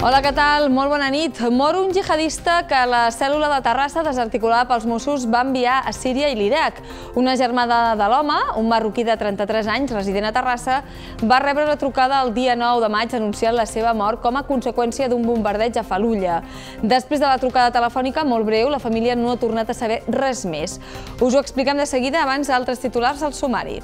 Hola, què tal? Molt bona nit. Mor un jihadista que la cèl·lula de Terrassa, desarticulada pels Mossos, va enviar a Síria i l'Iraq. Una germana de l'home, un marroquí de 33 anys, resident a Terrassa, va rebre la trucada el dia 9 de maig anunciant la seva mort com a conseqüència d'un bombardeig a Fallujah. Després de la trucada telefònica, molt breu, la família no ha tornat a saber res més. Us ho expliquem de seguida abans d'altres titulars al sumari.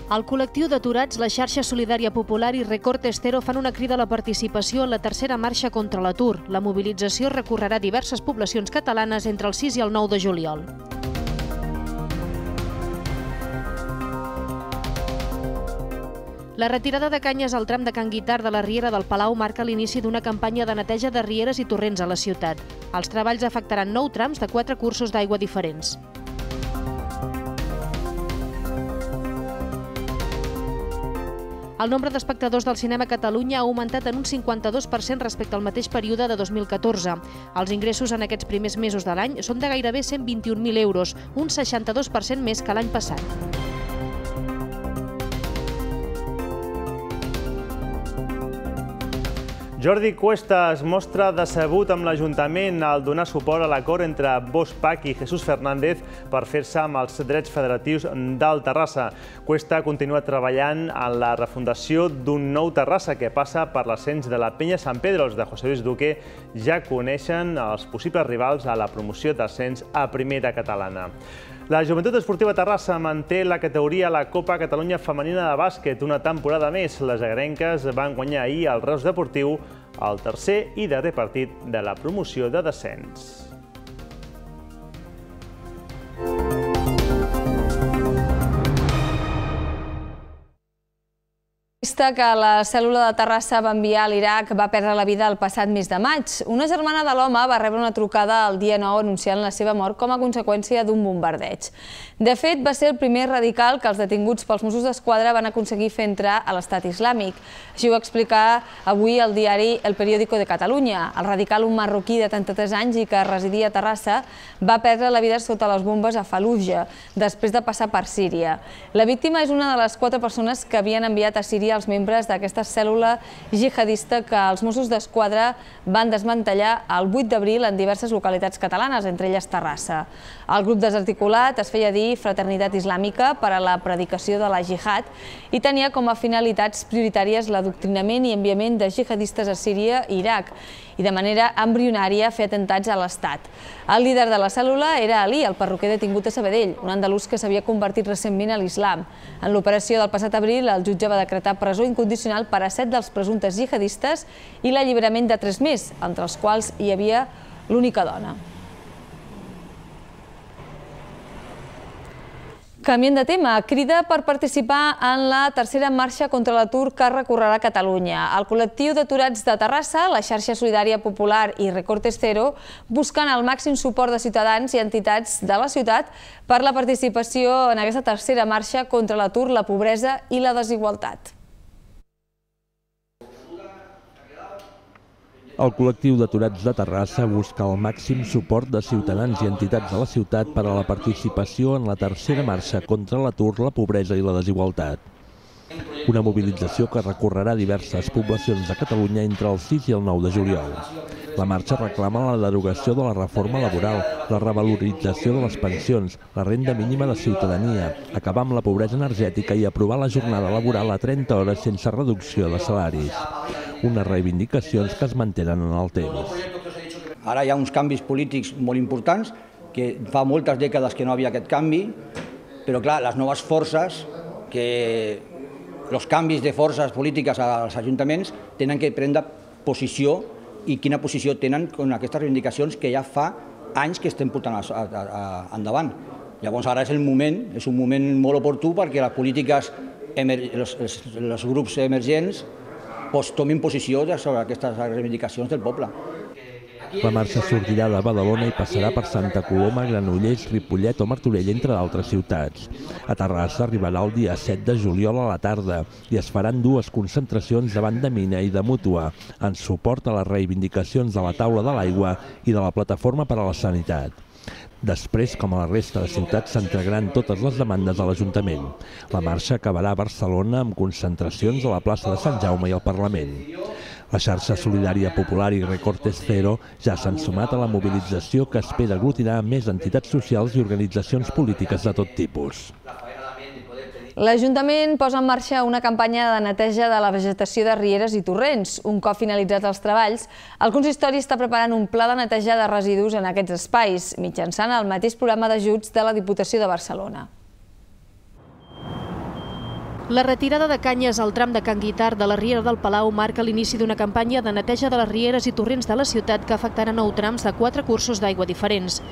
El col·lectiu d'aturats, la xarxa solidària popular i Recorte Cero fan una crida a la participació en la tercera marxa contra l'atur. La mobilització recorrerà diverses poblacions catalanes entre el 6 i el 9 de juliol. La retirada de canyes al tram de Can Guitar de la Riera del Palau marca l'inici d'una campanya de neteja de rieres i torrents a la ciutat. Els treballs afectaran 9 trams de 4 cursos d'aigua diferents. El nombre d'espectadors del cinema a Catalunya ha augmentat en un 52% respecte al mateix període de 2014. Els ingressos en aquests primers mesos de l'any són de gairebé 121.000 euros, un 62% més que l'any passat. Jordi Cuesta es mostra decebut amb l'Ajuntament al donar suport a l'acord entre Bosch PAC i Jesús Fernández per fer-se amb els drets federatius del Terrassa. Cuesta continua treballant en la refundació d'un nou Terrassa que passa per l'ascens de la Penya Sant Pedro. Els de José Luis Duque ja coneixen els possibles rivals a la promoció d'ascens a Primera Catalana. La Joventut Esportiva Terrassa manté la categoria a la Copa Catalunya Femenina de Bàsquet una temporada més. Les agrenques van guanyar ahir al Reus Deportiu el tercer i darrer partit de la promoció de descens. Que la cèl·lula de Terrassa va enviar a l'Iraq va perdre la vida el passat mes de maig. Una germana de l'home va rebre una trucada el dia 9 anunciant la seva mort com a conseqüència d'un bombardeig. De fet, va ser el primer radical que els detinguts pels Mossos d'Esquadra van aconseguir fer entrar a l'Estat Islàmic. Així ho va explicar avui el diari El Periódico de Catalunya. El radical, un marroquí de 33 anys i que residia a Terrassa, va perdre la vida sota les bombes a Fallujah, després de passar per Síria. La víctima és una de les 4 persones que havien enviat a Síria els membres d'aquesta cèl·lula jihadista que els Mossos d'Esquadra van desmantellar el 8 d'abril en diverses localitats catalanes, entre elles Terrassa. El grup desarticulat es feia dir Fraternitat Islàmica per a la predicació de la jihad i tenia com a finalitats prioritàries l'adoctrinament i enviament de jihadistes a Síria i Iraq i de manera embrionària fer atentats a l'Estat. El líder de la cèl·lula era Ali, el perruquer detingut a Sabadell, un andalús que s'havia convertit recentment a l'islam. En l'operació del passat abril, el jutge va decretar presó incondicional per a 7 dels presumptes jihadistes i l'alliberament de 3 més, entre els quals hi havia l'única dona. Canviant de tema, crida per participar en la tercera marxa contra l'atur que recorrerà Catalunya. El col·lectiu d'aturats de Terrassa, la xarxa solidària popular i Recorte Cero busquen el màxim suport de ciutadans i entitats de la ciutat per la participació en aquesta tercera marxa contra l'atur, la pobresa i la desigualtat. El col·lectiu d'aturats de Terrassa busca el màxim suport de ciutadans i entitats de la ciutat per a la participació en la tercera marxa contra l'atur, la pobresa i la desigualtat. Una mobilització que recorrerà diverses poblacions de Catalunya entre el 6 i el 9 de juliol. La marxa reclama la derogació de la reforma laboral, la revalorització de les pensions, la renda mínima de ciutadania, acabar amb la pobresa energètica i aprovar la jornada laboral a 30 hores sense reducció de salaris. Unes reivindicacions que es mantenen en el temps. Ara hi ha uns canvis polítics molt importants, que fa moltes dècades que no havia aquest canvi, però clar, les noves forces, els canvis de forces polítiques als ajuntaments tenen que prendre posició i quina posició tenen amb aquestes reivindicacions que ja fa anys que estem portant endavant. Llavors ara és un moment molt oportú perquè les polítiques, els grups emergents tomin posició sobre aquestes reivindicacions del poble. La marxa sortirà de Badalona i passarà per Santa Coloma, Granollers, Ripollet o Martorell, entre d'altres ciutats. A Terrassa arribarà el dia 7 de juliol a la tarda i es faran 2 concentracions davant de Mina i de Mútua, en suport a les reivindicacions de la taula de l'aigua i de la plataforma per a la sanitat. Després, com a la resta de ciutats, s'entregaran totes les demandes a l'Ajuntament. La marxa acabarà a Barcelona amb concentracions a la plaça de Sant Jaume i al Parlament. La xarxa solidària popular i Recortes Cero ja s'han sumat a la mobilització que espera aglutinar més entitats socials i organitzacions polítiques de tot tipus. L'Ajuntament posa en marxa una campanya de neteja de la vegetació de rieres i torrents. Un cop finalitzats els treballs, el consistori està preparant un pla de neteja de residus en aquests espais, mitjançant el mateix programa d'ajuts de la Diputació de Barcelona. La retirada de canyes al tram de Can Guitart de la Riera del Palau marca l'inici d'una campanya de neteja de les rieres i torrents de la ciutat que afectarà 9 trams de 4 cursos d'aigua diferents.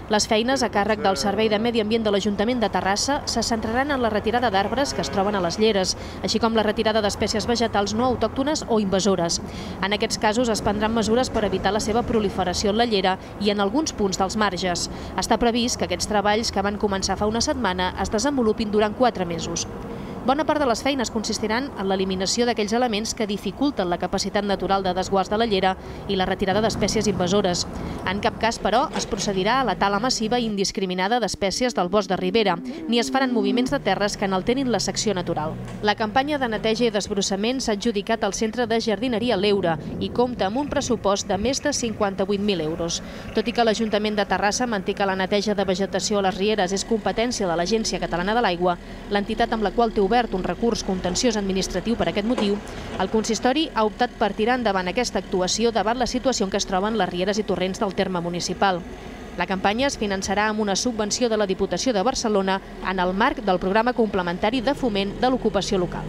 Les feines a càrrec del Servei de Medi Ambient de l'Ajuntament de Terrassa se centraran en la retirada d'arbres que es troben a les lleres, així com la retirada d'espècies vegetals no autòctones o invasores. En aquests casos es prendran mesures per evitar la seva proliferació en la llera i en alguns punts dels marges. Està previst que aquests treballs, que van començar fa una setmana, es desenvolupin durant 4 mesos. Bona part de les feines consistiran en l'eliminació d'aquells elements que dificulten la capacitat natural de desguàs de la llera i la retirada d'espècies invasores. En cap cas, però, es procedirà a la tala massiva i indiscriminada d'espècies del bosc de ribera, ni es faran moviments de terres que n'alterin la secció natural. La campanya de neteja i desbrossament s'ha adjudicat al Centre de Jardineria L'Eure i compta amb un pressupost de més de 58.000 euros. Tot i que l'Ajuntament de Terrassa manté que la neteja de vegetació a les rieres és competència de l'Agència Catalana de l'Aigua, l'entitat amb la qual té obert un recurs contenciós administratiu per aquest motiu, el consistori ha optat per tirar endavant aquesta actuació davant la situació en què es troben les rieres i torrents del terme municipal. La campanya es finançarà amb una subvenció de la Diputació de Barcelona en el marc del programa complementari de foment de l'ocupació local.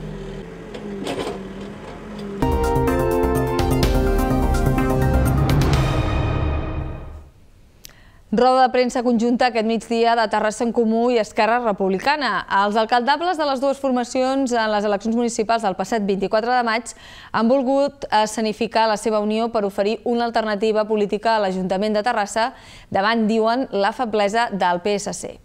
Roda de premsa conjunta aquest migdia de Terrassa en Comú i Esquerra Republicana. Els alcaldables de les dues formacions en les eleccions municipals del passat 24 de maig han volgut escenificar la seva unió per oferir una alternativa política a l'Ajuntament de Terrassa davant, diuen, la feblesa del PSC.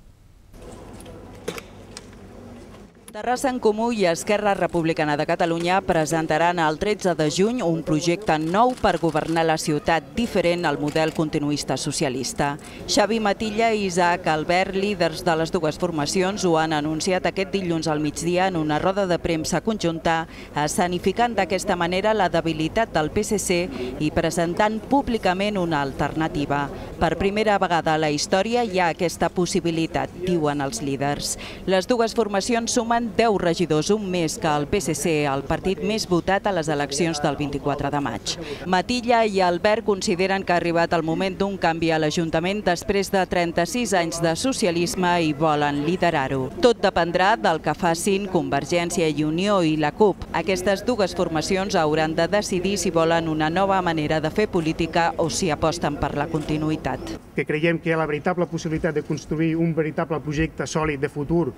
Terrassa en Comú i Esquerra Republicana de Catalunya presentaran el 13 de juny un projecte nou per governar la ciutat diferent al model continuista socialista. Xavi Matilla i Isaac Albert, líders de les dues formacions, ho han anunciat aquest dilluns al migdia en una roda de premsa conjunta, escenificant d'aquesta manera la debilitat del PSC i presentant públicament una alternativa. Per primera vegada a la història hi ha aquesta possibilitat, diuen els líders. Les dues formacions sumen 10 regidors, un més que el PSC, el partit més votat a les eleccions del 24 de maig. Matilla i Albert consideren que ha arribat el moment d'un canvi a l'Ajuntament després de 36 anys de socialisme i volen liderar-ho. Tot dependrà del que facin Convergència i Unió i la CUP. Aquestes dues formacions hauran de decidir si volen una nova manera de fer política o si aposten per la continuïtat. Que creiem que hi ha la veritable possibilitat de construir un veritable projecte sòlid de futur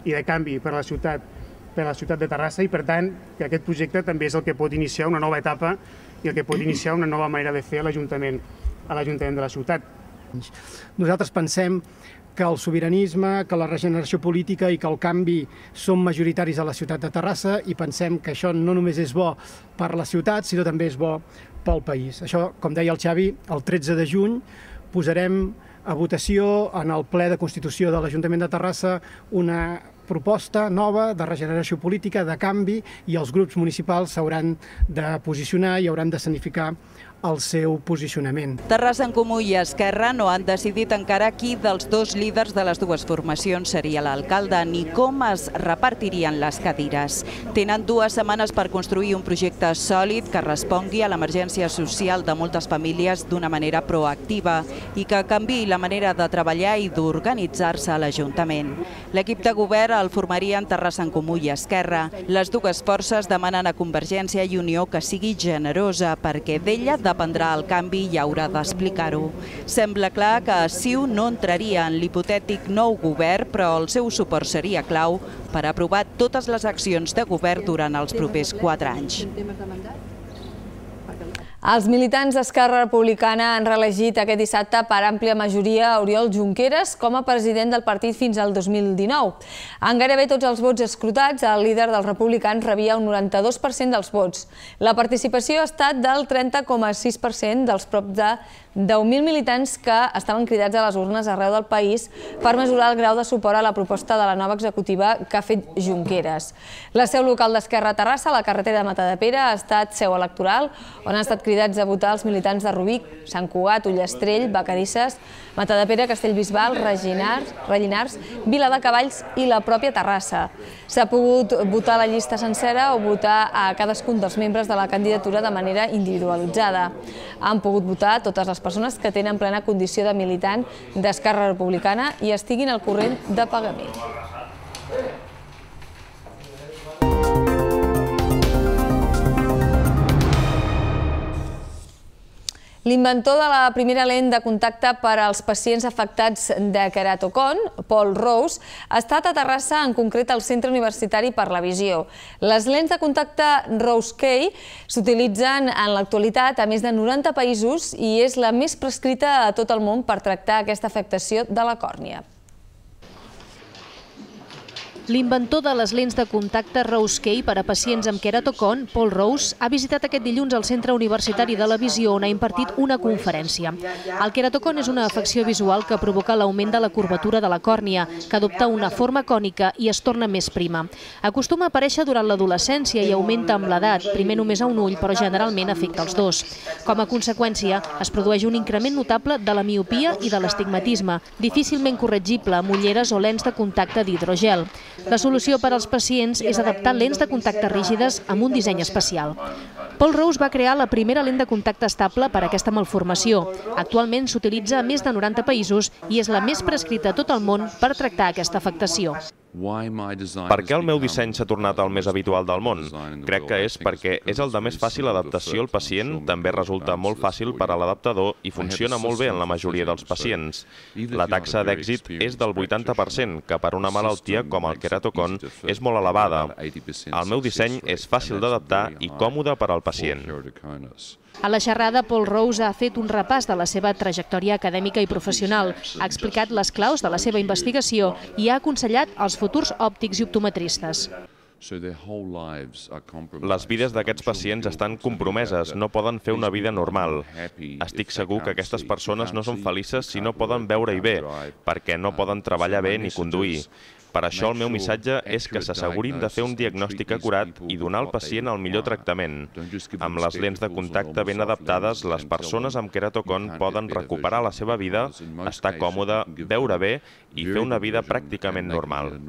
i de canvi per a la ciutat de Terrassa i, per tant, que aquest projecte també és el que pot iniciar una nova etapa i el que pot iniciar una nova manera de fer a l'Ajuntament de la ciutat. Nosaltres pensem que el sobiranisme, que la regeneració política i que el canvi són majoritaris a la ciutat de Terrassa i pensem que això no només és bo per la ciutat, sinó també és bo pel país. Això, com deia el Xavi, el 13 de juny posarem a votació en el ple de Constitució de l'Ajuntament de Terrassa una proposta nova de regeneració política, de canvi, i els grups municipals s'hauran de posicionar i hauran d'escenificar el seu posicionament. Terrassa en Comú i Esquerra no han decidit encara qui dels dos líders de les dues formacions seria l'alcalde ni com es repartirien les cadires. Tenen 2 setmanes per construir un projecte sòlid que respongui a l'emergència social de moltes famílies d'una manera proactiva i que canviï la manera de treballar i d'organitzar-se a l'Ajuntament. L'equip de govern el formarien Terrassa en Comú i Esquerra. Les dues forces demanen a Convergència i Unió que sigui generosa perquè d'ella dependrà el canvi i haurà d'explicar-ho. Sembla clar que CiU no entraria en l'hipotètic nou govern, però el seu suport seria clau per aprovar totes les accions de govern durant els propers 4 anys. Els militants d'Esquerra Republicana han reelegit aquest dissabte per àmplia majoria Oriol Junqueras com a president del partit fins al 2019. En gairebé tots els vots escrutats, el líder dels republicans rebia un 92% dels vots. La participació ha estat del 30,6% dels prop de 10.000 militants que estaven cridats a les urnes arreu del país per mesurar el grau de suport a la proposta de la nova executiva que ha fet Junqueras. La seu local d'Esquerra a Terrassa, a la carretera de Matadepera, ha estat seu electoral, on han estat cridats a votar els militants de Rubí, Sant Cugat, Ullastrell, Vacarisses, Matadepera, Castellbisbal, Rellinars, Viladecavalls i la pròpia Terrassa. S'ha pogut votar la llista sencera o votar a cadascun dels membres de la candidatura de manera individualitzada. Han pogut votar totes les persones que tenen plena condició de militant d'Esquerra Republicana i estiguin al corrent de pagament. L'inventor de la primera lent de contacte per als pacients afectats de queratocon, Paul Rose, ha estat a Terrassa, en concret al Centre Universitari per la Visió. Les lents de contacte Rose-Kay s'utilitzen en l'actualitat a més de 90 països i és la més prescrita a tot el món per tractar aquesta afectació de la còrnia. L'inventor de les lents de contacte Rose-Kay per a pacients amb queratocon, Paul Rose, ha visitat aquest dilluns el Centre Universitari de la Visió, on ha impartit una conferència. El queratocon és una afecció visual que provoca l'augment de la curvatura de la còrnia, que adopta una forma cònica i es torna més prima. Acostuma a aparèixer durant l'adolescència i augmenta amb l'edat, primer només a un ull, però generalment afecta els dos. Com a conseqüència, es produeix un increment notable de la miopia i de l'astigmatisme, difícilment corregible amb ulleres o lents de contacte d'hidrogel. La solució per als pacients és adaptar lents de contacte rígides amb un disseny especial. Paul Rose va crear la primera lent de contacte estable per a aquesta malformació. Actualment s'utilitza a més de 90 països i és la més prescrita a tot el món per tractar aquesta afectació. Per què el meu disseny s'ha tornat el més habitual del món? Crec que és perquè és el de més fàcil adaptació al pacient, també resulta molt fàcil per a l'adaptador i funciona molt bé en la majoria dels pacients. La taxa d'èxit és del 80%, que per una malaltia com el queratocon és molt elevada. El meu disseny és fàcil d'adaptar i còmode per al pacient. A la xerrada, Paul Rose ha fet un repàs de la seva trajectòria acadèmica i professional, ha explicat les claus de la seva investigació i ha aconsellat als futurs òptics i optometristes. Les vides d'aquests pacients estan compromeses, no poden fer una vida normal. Estic segur que aquestes persones no són felices si no poden veure-hi bé, perquè no poden treballar bé ni conduir. Per això el meu missatge és que s'assegurin de fer un diagnòstic acurat i donar al pacient el millor tractament. Amb les lents de contacte ben adaptades, les persones amb queratocon poden recuperar la seva vida, estar còmode, veure bé i fer una vida pràcticament normal.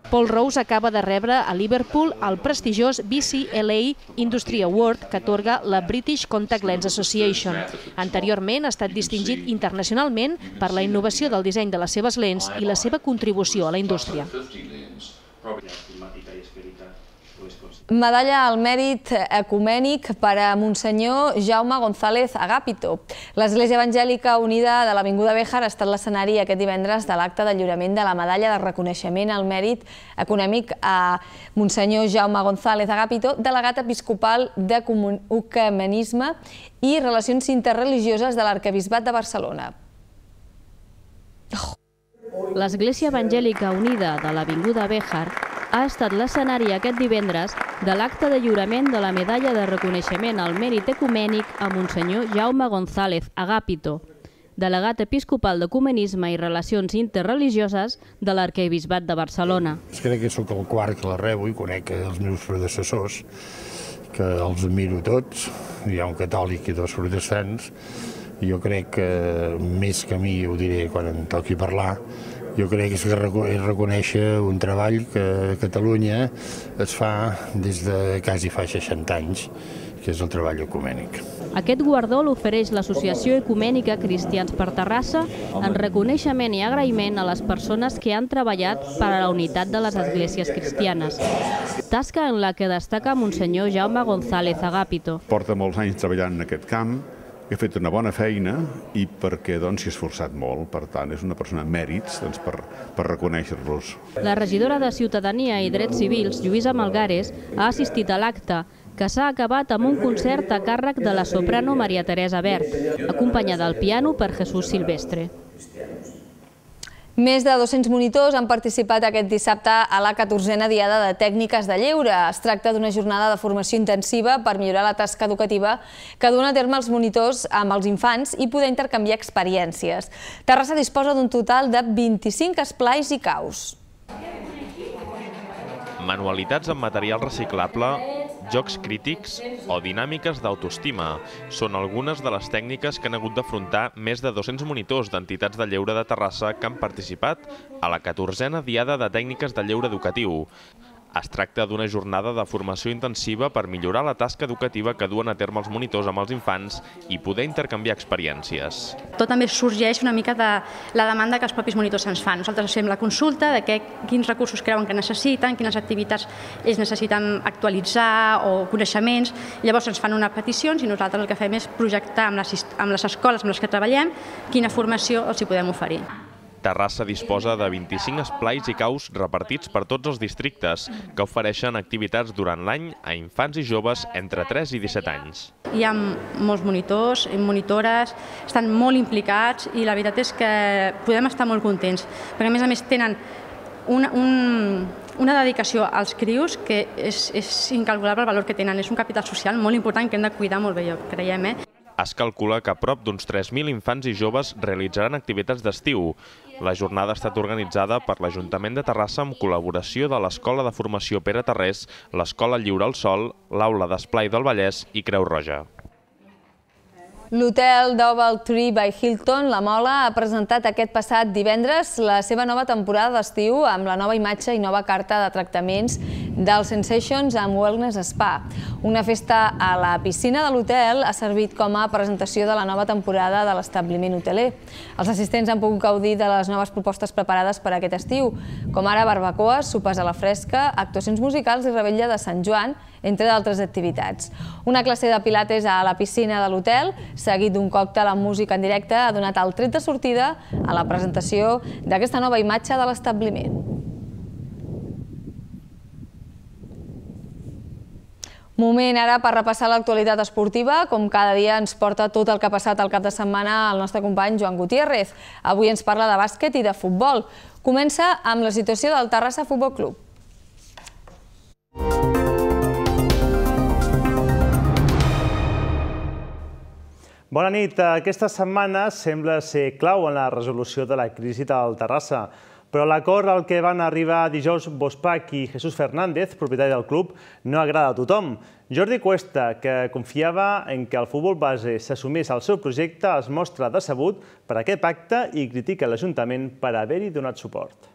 Paul Rose acaba de rebre a Liverpool el prestigiós BCLA Industry Award que atorga la British Contact Lens Association. Anteriorment ha estat distingit internacionalment per la innovació del disseny de les seves lents i la seva contribució a la indústria. Medalla al mèrit ecumènic per a Monsenyor Jaume González Agapito. L'Església Evangèlica Unida de l'Avinguda Béjar ha estat l'escenari aquest divendres de l'acte de lliurament de la medalla de reconeixement al mèrit econòmic a Monsenyor Jaume González Agapito, delegat episcopal d'Ecumenisme i Relacions Interreligioses de l'Arquebisbat de Barcelona. L'Església Evangèlica Unida de l'Avinguda Béjar ha estat l'escenari aquest divendres de l'acte de lliurament de la medalla de reconeixement al mèrit ecumènic a Monsenyor Jaume González Agapito, delegat episcopal d'Ecumenisme i Relacions Interreligioses de l'Arquebisbat de Barcelona. Crec que sóc el quart que la rebo i conec els meus predecessors, que els admiro tots. Hi ha un catòlic i dos protestants. Jo crec que, més que a mi, ho diré quan em toqui parlar, jo crec que és reconèixer un treball que a Catalunya es fa des de quasi fa 60 anys, que és el treball ecumènic. Aquest guardó l'ofereix l'Associació Ecumènica Cristians per Terrassa en reconeixement i agraïment a les persones que han treballat per a la unitat de les esglésies cristianes. Tasca en la que destaca Monsenyor Jaume González Agapito. Porta molts anys treballant en aquest camp, he fet una bona feina i perquè s'hi ha esforçat molt. Per tant, és una persona amb mèrits per reconèixer-los. La regidora de Ciutadania i Drets Civils, Lluïsa Malgares, ha assistit a l'acte, que s'ha acabat amb un concert a càrrec de la soprano Maria Teresa Bert, acompanyada al piano per Jesús Silvestre. Més de 200 monitors han participat aquest dissabte a la 14a Diada de Tècniques de Lleure. Es tracta d'una jornada de formació intensiva per millorar la tasca educativa que duen a terme els monitors amb els infants i poder intercanviar experiències. Terrassa disposa d'un total de 25 esplais i caus. Manualitats amb material reciclable, jocs crítics o dinàmiques d'autoestima són algunes de les tècniques que han hagut d'afrontar més de 200 monitors d'entitats de lleure de Terrassa que han participat a la 14a Diada de Tècniques de Lleure Educatiu. Es tracta d'una jornada de formació intensiva per millorar la tasca educativa que duen a terme els monitors amb els infants i poder intercanviar experiències. Tot també sorgeix una mica de la demanda que els propis monitors ens fan. Nosaltres fem la consulta de quins recursos creuen que necessiten, quines activitats ells necessiten actualitzar o coneixements. Llavors ens fan unes peticions i nosaltres el que fem és projectar amb les escoles amb les que treballem quina formació els hi podem oferir. Terrassa disposa de 25 esplais i caus repartits per tots els districtes que ofereixen activitats durant l'any a infants i joves entre 3 i 17 anys. Hi ha molts monitors i monitores, estan molt implicats i la veritat és que podem estar molt contents, perquè a més tenen una dedicació als crios que és incalculable el valor que tenen. És un capital social molt important que hem de cuidar molt bé, creiem. Es calcula que prop d'uns 3.000 infants i joves realitzaran activitats d'estiu. La jornada ha estat organitzada per l'Ajuntament de Terrassa amb col·laboració de l'Escola de Formació Pere Tarrés, l'Escola Lliure al Sol, l'Aula d'Esplai del Vallès i Creu Roja. L'hotel DoubleTree by Hilton, La Mola, ha presentat aquest passat divendres la seva nova temporada d'estiu amb la nova imatge i nova carta de tractaments del Sensations and Wellness Spa. Una festa a la piscina de l'hotel ha servit com a presentació de la nova temporada de l'establiment hoteler. Els assistents han pogut gaudir de les noves propostes preparades per a aquest estiu, com ara barbacoes, sopes a la fresca, actuacions musicals i revetlla de Sant Joan, entre d'altres activitats. Una classe de pilates a la piscina de l'hotel, seguit d'un còctel amb música en directe, ha donat el tret de sortida a la presentació d'aquesta nova imatge de l'establiment. Moment ara per repassar l'actualitat esportiva. Com cada dia ens porta tot el que ha passat al cap de setmana el nostre company Joan Gutiérrez. Avui ens parla de bàsquet i de futbol. Comença amb la situació del Terrassa Futbol Club. Bona nit. Aquesta setmana sembla ser clau en la resolució de la crisi del Terrassa, però l'acord al que van arribar dijous Bospach i Jesús Fernández, propietari del club, no agrada a tothom. Jordi Cuesta, que confiava en que el futbol base s'assumís al seu projecte, es mostra decebut per aquest pacte i critica l'Ajuntament per haver-hi donat suport.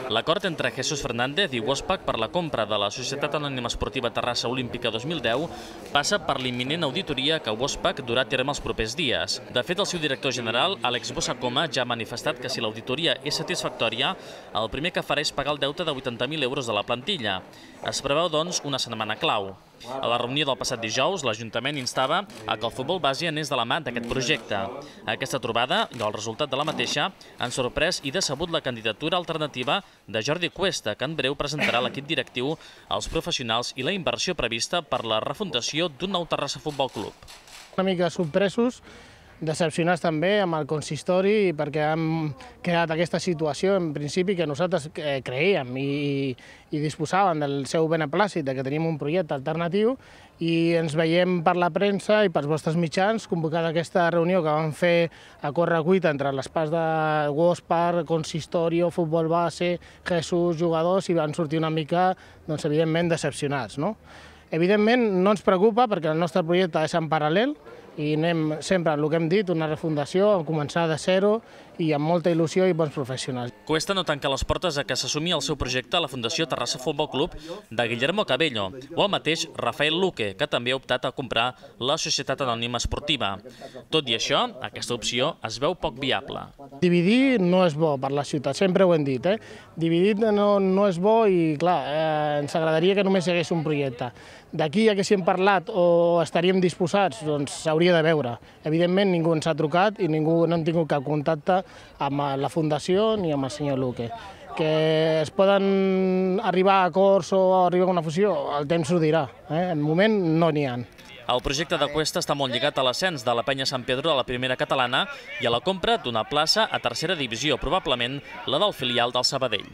L'acord entre Jesús Fernández i Bospach per la compra de la Societat Anònima Esportiva Terrassa Olímpica 2010 passa per l'imminent auditoria que Bospach durà a terme els propers dies. De fet, el seu director general, Àlex Bossacoma, ja ha manifestat que si l'auditoria és satisfactòria, el primer que farà és pagar el deute de 80.000 euros de la plantilla. Es preveu, doncs, una setmana clau. A la reunió del passat dijous, l'Ajuntament instava a que el futbol base anés de la mà d'aquest projecte. Aquesta trobada i el resultat de la mateixa han sorprès i decebut la candidatura alternativa de Jordi Cuesta, que en breu presentarà l'equip directiu, els professionals i la inversió prevista per la refundació d'un nou Terrassa Futbol Club. Una mica sorpresos, decepcionats també amb el consistori perquè hem creat aquesta situació en principi que nosaltres creíem i disposàvem del seu beneplàcit, que tenim un projecte alternatiu i ens veiem per la premsa i pels vostres mitjans convocant aquesta reunió que vam fer a correcuita entre les parts de Bospach, consistorio, futbol base, Jesús, jugadors, i van sortir una mica, doncs, evidentment, decepcionats. Evidentment, no ens preocupa perquè el nostre projecte és en paral·lel i anem sempre, el que hem dit, una refundació, a començar de zero i amb molta il·lusió i bons professionals. Cuesta no tanca les portes a que s'assumi el seu projecte a la Fundació Terrassa Futbol Club de Guillermo Cabello o el mateix Rafael Luque, que també ha optat a comprar la Societat Anònima Esportiva. Tot i això, aquesta opció es veu poc viable. Dividir no és bo per la ciutat, sempre ho hem dit. Dividir no és bo i, clar, ens agradaria que només hi hagués un projecte. D'aquí a que si hem parlat o estaríem disposats, doncs s'hauria de veure. Evidentment ningú ens ha trucat i ningú no hem tingut cap contacte amb la Fundació ni amb el senyor Luque. Que es poden arribar a acords o arribar a una fusió, el temps ho dirà. En moment no n'hi ha. El projecte de Cuesta està molt lligat a l'ascens de la Penya Sant Pedro a la primera catalana i a la compra d'una plaça a tercera divisió, probablement la del filial del Sabadell.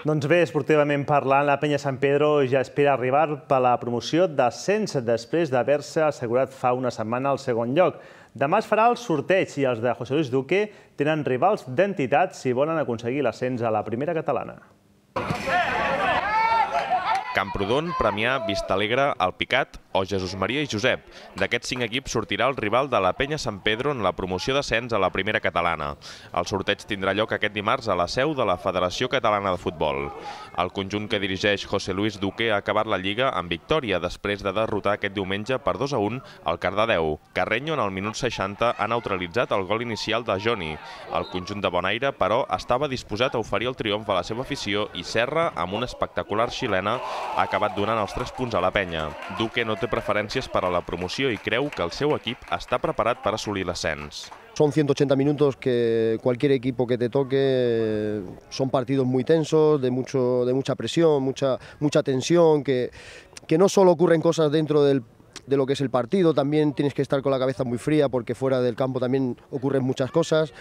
Doncs bé, esportivament parlant, la Penya Sant Pedro ja espera arribar per la promoció d'ascens després d'haver-se assegurat fa una setmana al segon lloc. Demà es farà el sorteig i els de José Luis Duque tenen rivals d'entitat si volen aconseguir l'ascens a la primera catalana. Camprodon, Premià, Vistalegre, Alpicat o Jesús Maria i Josep. D'aquests 5 equips sortirà el rival de la Penya Sant Pedro en la promoció d'ascens a la primera catalana. El sorteig tindrà lloc aquest dimarts a la seu de la Federació Catalana de Futbol. El conjunt que dirigeix José Luis Duque ha acabat la Lliga amb victòria després de derrotar aquest diumenge per 2-1 al Cardedeu. Carreño, en el minut 60, ha neutralitzat el gol inicial de Joni. El conjunt de Bonaire, però, estava disposat a oferir el triomf a la seva afició i Serra, amb una espectacular xilena, ha acabat donant els 3 punts a la Penya. Duque no té preferències per a la promoció i creu que el seu equip està preparat per assolir l'ascens. Son 180 minutos que cualquier equipo que te toque son partidos muy tensos, de mucha presión, mucha tensión, que no solo ocurren cosas dentro de lo que es el partido, también tienes que estar con la cabeza muy fría porque fuera del campo también ocurren muchas cosas.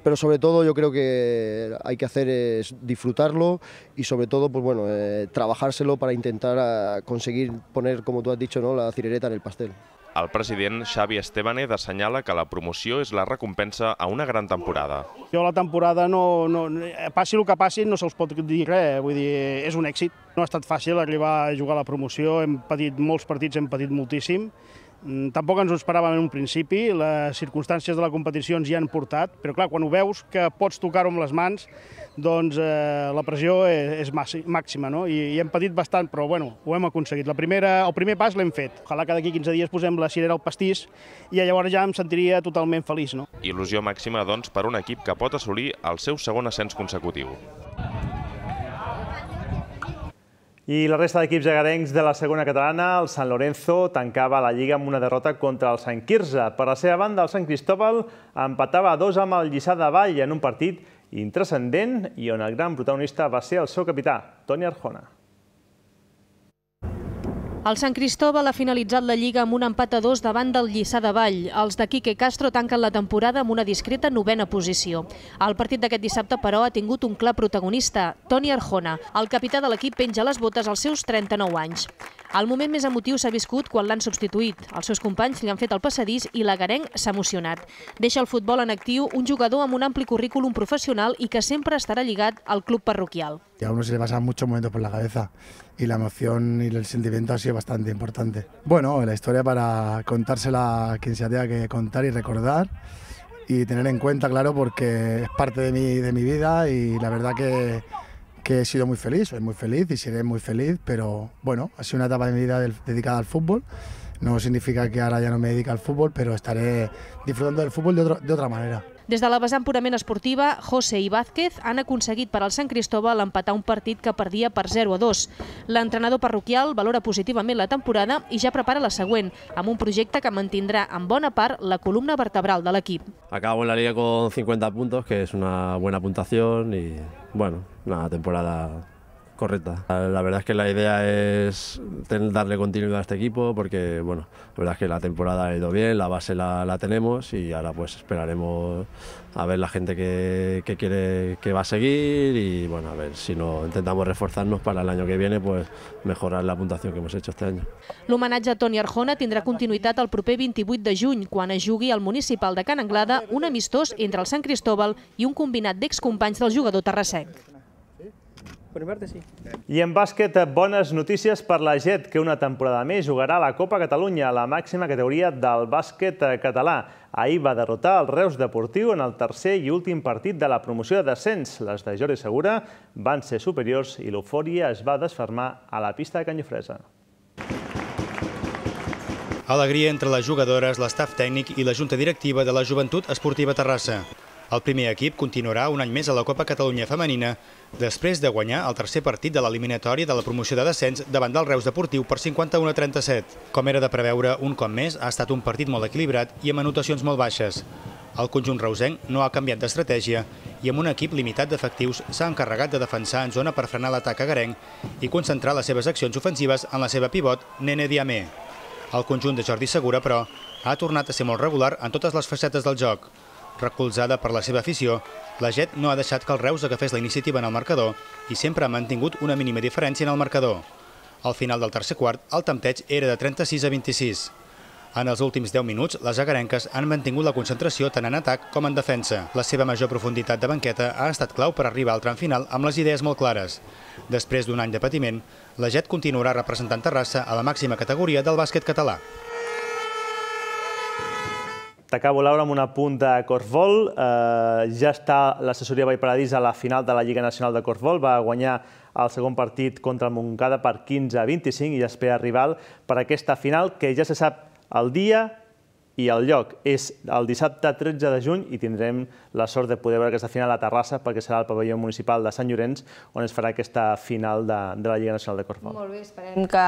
Pero sobre todo yo creo que hay que hacer es disfrutarlo y sobre todo pues bueno, trabajárselo para intentar conseguir poner, como tú has dicho, ¿no?, la cirereta en el pastel. El president Xavi Estebánez assenyala que la promoció és la recompensa a una gran temporada. Jo la temporada, passi el que passi, no se'ls pot dir res, vull dir, és un èxit. No ha estat fàcil arribar a jugar a la promoció, hem patit molts partits, hem patit moltíssim. Tampoc ens ho esperàvem en un principi, les circumstàncies de la competició ens hi han portat, però clar, quan ho veus que pots tocar-ho amb les mans, doncs la pressió és màxima, no? I hem patit bastant, però bueno, ho hem aconseguit. El primer pas l'hem fet. Ojalà que d'aquí 15 dies posem la cirera al pastís i llavors ja em sentiria totalment feliç, no? Il·lusió màxima, doncs, per un equip que pot assolir el seu segon ascens consecutiu. I la resta d'equips egarencs de la segona catalana, el San Lorenzo tancava la Lliga amb una derrota contra el Sant Quirze. Per la seva banda, el Sant Cristóbal empatava a 2 amb el Lliçà de Vall en un partit intranscendent i on el gran protagonista va ser el seu capità, Toni Arjona. El Sant Cristóbal ha finalitzat la Lliga amb un empat a 2 davant del Lliçà de Vall. Els de Quique Castro tanquen la temporada amb una discreta 9a posició. El partit d'aquest dissabte, però, ha tingut un clar protagonista, Toni Arjona. El capità de l'equip penja les botes als seus 39 anys. El moment més emotiu s'ha viscut quan l'han substituït. Els seus companys li han fet el passadís i l'agarenc s'ha emocionat. Deixa el futbol en actiu un jugador amb un ampli currículum professional i que sempre estarà lligat al club parroquial. A uno se le pasan muchos momentos por la cabeza y la emoción y el sentimiento ha sido bastante importante. Bueno, la historia para contársela a quien se la tenga que contar y recordar y tener en cuenta, claro, porque es parte de mi vida y la verdad que he sido muy feliz, soy muy feliz y seré muy feliz, pero bueno, ha sido una etapa de mi vida dedicada al fútbol. No significa que ahora ya no me dedique al fútbol, pero estaré disfrutando del fútbol de otra manera. Des de la vessant purament esportiva, José i Vázquez han aconseguit per al Sant Cristóbal empatar un partit que perdia per 0-2. L'entrenador parroquial valora positivament la temporada i ja prepara la següent, amb un projecte que mantindrà en bona part la columna vertebral de l'equip. Acabo en la liga con 50 puntos, que es una buena puntuación y bueno, una temporada correcta. La verdad es que la idea es darle continuidad a este equipo porque bueno, la verdad es que la temporada ha ido bien, la base la tenemos y ahora pues esperaremos a ver la gente que quiere que va a seguir y bueno, a ver si no intentamos reforzarnos para el año que viene, pues mejorar la puntuación que hemos hecho este año. L'homenatge a Toni Arjona tindrà continuïtat el proper 28 de juny, quan es jugui al municipal de Can Anglada un amistós entre el Sant Cristóbal i un combinat d'excompanys del jugador terrassenc. I en bàsquet, bones notícies per la GET, que una temporada més jugarà a la Copa Catalunya, la màxima categoria del bàsquet català. Ahir va derrotar el Reus Deportiu en el tercer i últim partit de la promoció de descens. Les de Jordi Segura van ser superiors i l'eufòria es va desfermar a la pista de Can Jofresa. Alegria entre les jugadores, l'estaf tècnic i la junta directiva de la Joventut Esportiva Terrassa. El primer equip continuarà un any més a la Copa Catalunya Femenina després de guanyar el tercer partit de l'eliminatòria de la promoció de descens davant del Reus Deportiu per 51-37. Com era de preveure, un cop més ha estat un partit molt equilibrat i amb anotacions molt baixes. El conjunt reusenc no ha canviat d'estratègia i amb un equip limitat d'efectius s'ha encarregat de defensar en zona per frenar l'atac agarenc i concentrar les seves accions ofensives en la seva pivot, Nene Diamé. El conjunt de Jordi Segura, però, ha tornat a ser molt regular en totes les facetes del joc. Recolzada per la seva afició, la Jet no ha deixat que el Reus agafés la iniciativa en el marcador i sempre ha mantingut una mínima diferència en el marcador. Al final del tercer quart, el tempteig era de 36-26. En els últims 10 minuts, les agarenques han mantingut la concentració tant en atac com en defensa. La seva major profunditat de banqueta ha estat clau per arribar al tram final amb les idees molt clares. Després d'un any de patiment, la Jet continuarà representant Terrassa a la màxima categoria del bàsquet català. T'acabo, Laura, amb un apunt de corfbol. Ja està l'assessoria Vall Paradís a la final de la Lliga Nacional de Corfbol. Va guanyar el segon partit contra el Montcada per 15-25 i espera rival per aquesta final, que ja se sap el dia i el lloc. És el dissabte 13 de juny i tindrem la sort de poder veure aquesta final a Terrassa perquè serà al pavelló municipal de Sant Llorenç on es farà aquesta final de la Lliga Nacional de Corfbol. Molt bé, esperem que,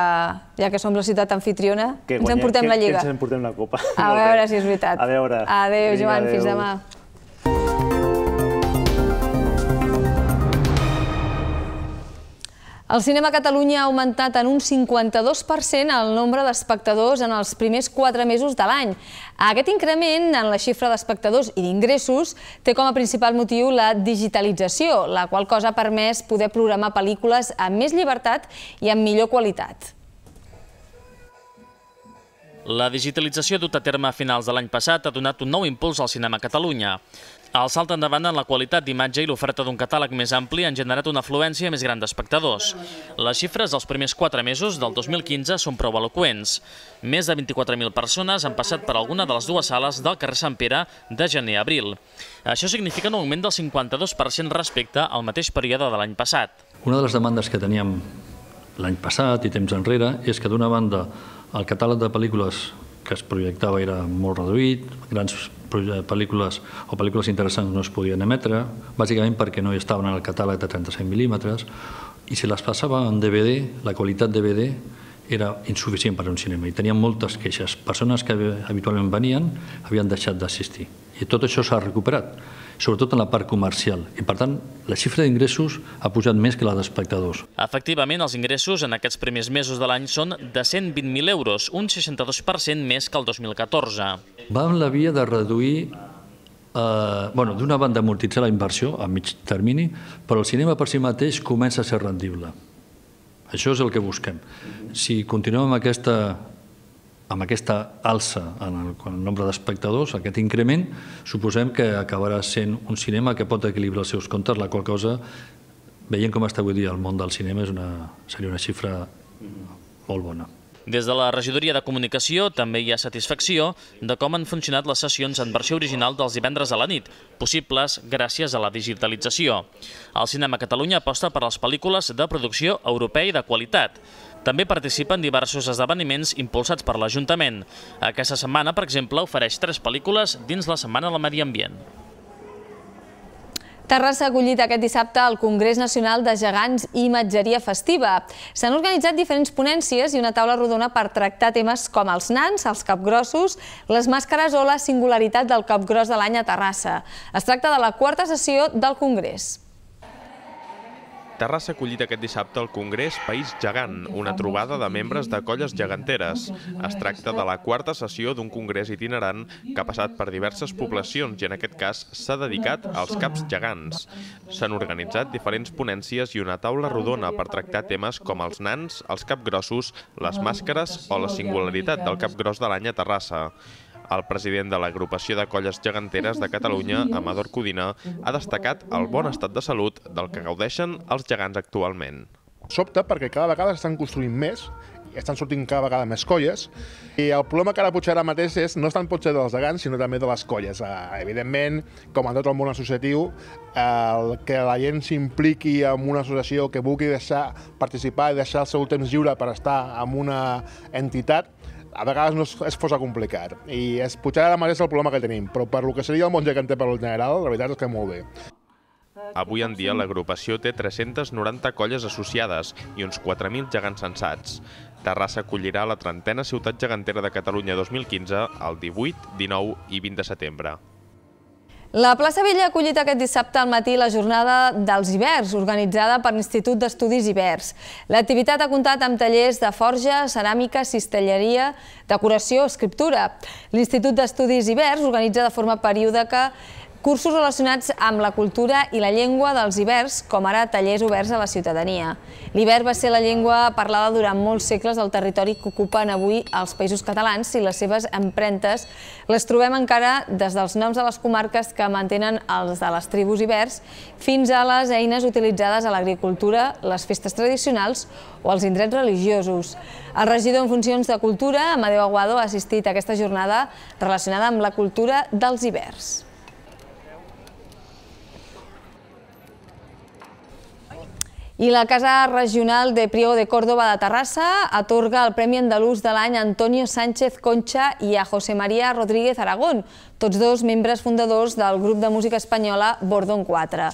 ja que som la ciutat anfitriona, ens emportem la Lliga. Que ens emportem la Copa. A veure si és veritat. A veure. Adéu, Joan, fins demà. El cinema a Catalunya ha augmentat en un 52% el nombre d'espectadors en els primers 4 mesos de l'any. Aquest increment en la xifra d'espectadors i d'ingressos té com a principal motiu la digitalització, la qual cosa ha permès poder programar pel·lícules amb més llibertat i amb millor qualitat. La digitalització dut a terme a finals de l'any passat ha donat un nou impuls al cinema a Catalunya. El salt endavant en la qualitat d'imatge i l'oferta d'un catàleg més ampli han generat una afluència més gran d'espectadors. Les xifres dels primers 4 mesos del 2015 són prou eloqüents. Més de 24.000 persones han passat per alguna de les 2 sales del carrer Sant Pere de gener a abril. Això significa un augment del 52% respecte al mateix període de l'any passat. Una de les demandes que teníem l'any passat i temps enrere és que d'una banda el catàleg de pel·lícules que es projectava era molt reduït, grans pel·lícules o pel·lícules interessants no es podien emetre, bàsicament perquè no estaven en el catàleg de 35 mil·límetres, i si les passava en DVD, la qualitat DVD era insuficient per a un cinema, i teníem moltes queixes. Persones que habitualment venien havien deixat d'assistir, i tot això s'ha recuperat, sobretot en la part comercial, i per tant la xifra d'ingressos ha pujat més que la d'espectadors. Efectivament, els ingressos en aquests primers mesos de l'any són de 120.000 euros, un 62% més que el 2014. Va en la via de reduir, d'una banda amortitzar la inversió a mig termini, però el cinema per si mateix comença a ser rendible. Això és el que busquem. Si continuem amb aquesta alça en el nombre d'espectadors, aquest increment, suposem que acabarà sent un cinema que pot equilibrar els seus comptes, la qual cosa, veient com està avui dia el món del cinema, seria una xifra molt bona. Des de la Regidoria de Comunicació també hi ha satisfacció de com han funcionat les sessions en versió original dels divendres a la nit, possibles gràcies a la digitalització. El cinema a Catalunya aposta per les pel·lícules de producció europea i de qualitat. També participa en diversos esdeveniments impulsats per l'Ajuntament. Aquesta setmana, per exemple, ofereix 3 pel·lícules dins la Setmana del Medi Ambient. Terrassa ha acollit aquest dissabte el Congrés Nacional de Gegants i Imatgeria Festiva. S'han organitzat diferents ponències i una taula rodona per tractar temes com els nans, els capgrossos, les màscares o la singularitat del capgros de l'any a Terrassa. Es tracta de la 4a sessió del Congrés. Terrassa ha acollit aquest dissabte el Congrés País Gegant, una trobada de membres de colles geganteres. Es tracta de la 4a sessió d'un congrés itinerant que ha passat per diverses poblacions i en aquest cas s'ha dedicat als caps gegants. S'han organitzat diferents ponències i una taula rodona per tractar temes com els nans, els capgrossos, les màscares o la singularitat del capgros de l'any a Terrassa. El president de l'Agrupació de Colles Geganteres de Catalunya, Amador Codina, ha destacat el bon estat de salut del que gaudeixen els gegants actualment. Sobta perquè cada vegada s'estan construint més, estan sortint cada vegada més colles, i el problema que ara potser ara mateix no és tant potser dels gegants, sinó també de les colles. Evidentment, com en tot el món associatiu, que la gent s'impliqui en una associació que vulgui participar i deixar el seu temps lliure per estar en una entitat, a vegades no es posa complicat. I potser ara mateix és el problema que tenim, però per el que seria el món geganter per al general, la veritat és que molt bé. Avui en dia l'agrupació té 390 colles associades i uns 4.000 gegants censats. Terrassa acollirà la 30a Ciutat Gegantera de Catalunya 2015 el 18, 19 i 20 de setembre. La plaça Vella ha acollit aquest dissabte al matí la jornada dels Ibers, organitzada per l'Institut d'Estudis Ibers. L'activitat ha comptat amb tallers de forja, ceràmica, cistelleria, decoració, escriptura. L'Institut d'Estudis Ibers organitza de forma periòdica cursos relacionats amb la cultura i la llengua dels ibers, com ara tallers oberts a la ciutadania. L'iber va ser la llengua parlada durant molts segles al territori que ocupen avui els Països Catalans i les seves empremtes les trobem encara des dels noms de les comarques que mantenen els de les tribus ibers fins a les eines utilitzades a l'agricultura, les festes tradicionals o els indrets religiosos. El regidor en funcions de Cultura, Amadeu Aguado, ha assistit a aquesta jornada relacionada amb la cultura dels ibers. I la Casa Regional de Priego de Córdoba de Terrassa atorga el Premi Andalús de l'any a Antonio Sánchez Concha i a José María Rodríguez Aragón, tots dos membres fundadors del grup de música espanyola Bordón 4.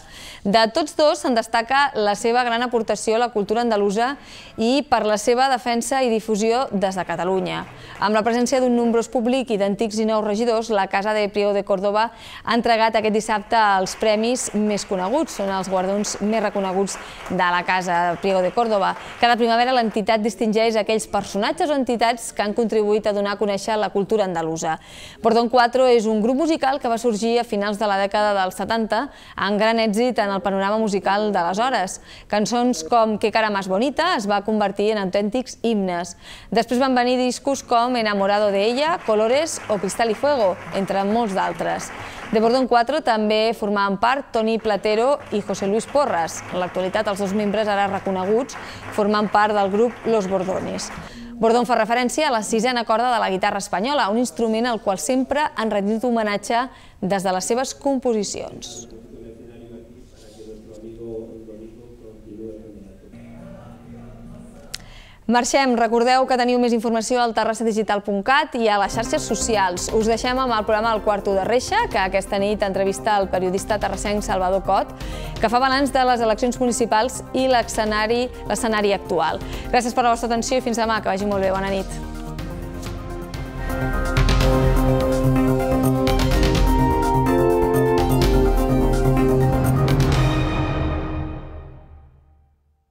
De tots dos se'n destaca la seva gran aportació a la cultura andalusa i per la seva defensa i difusió des de Catalunya. Amb la presència d'un nombrós públic i d'antics i nous regidors, la Casa de Priego de Córdoba ha entregat aquest dissabte els premis més coneguts, són els guardons més reconeguts de la Casa Priego de Córdoba. Cada primavera l'entitat distingeix aquells personatges o entitats que han contribuït a donar a conèixer la cultura andalusa. Bordón 4 és un grup musical que va sorgir a finals de la dècada dels 70 amb gran èxit en el panorama musical d'aleshores. Cançons com Que cara más bonita es va convertir en autèntics himnes. Després van venir discos com Enamorado de ella, Colores o Cristal y Fuego, entre molts d'altres. De Bordón 4 també formaven part Toni Platero i José Luis Porras. En l'actualitat, els dos membres ara reconeguts formen part del grup Los Bordones. Bordón fa referència a la sisena corda de la guitarra espanyola, un instrument al qual sempre han rendit homenatge des de les seves composicions. Marxem. Recordeu que teniu més informació al terrassadigital.cat i a les xarxes socials. Us deixem amb el programa El Quarto de Reixa, que aquesta nit entrevista el periodista terrassenc Salvador Cot, que fa balanç de les eleccions municipals i l'escenari actual. Gràcies per la vostra atenció i fins demà. Que vagi molt bé. Bona nit.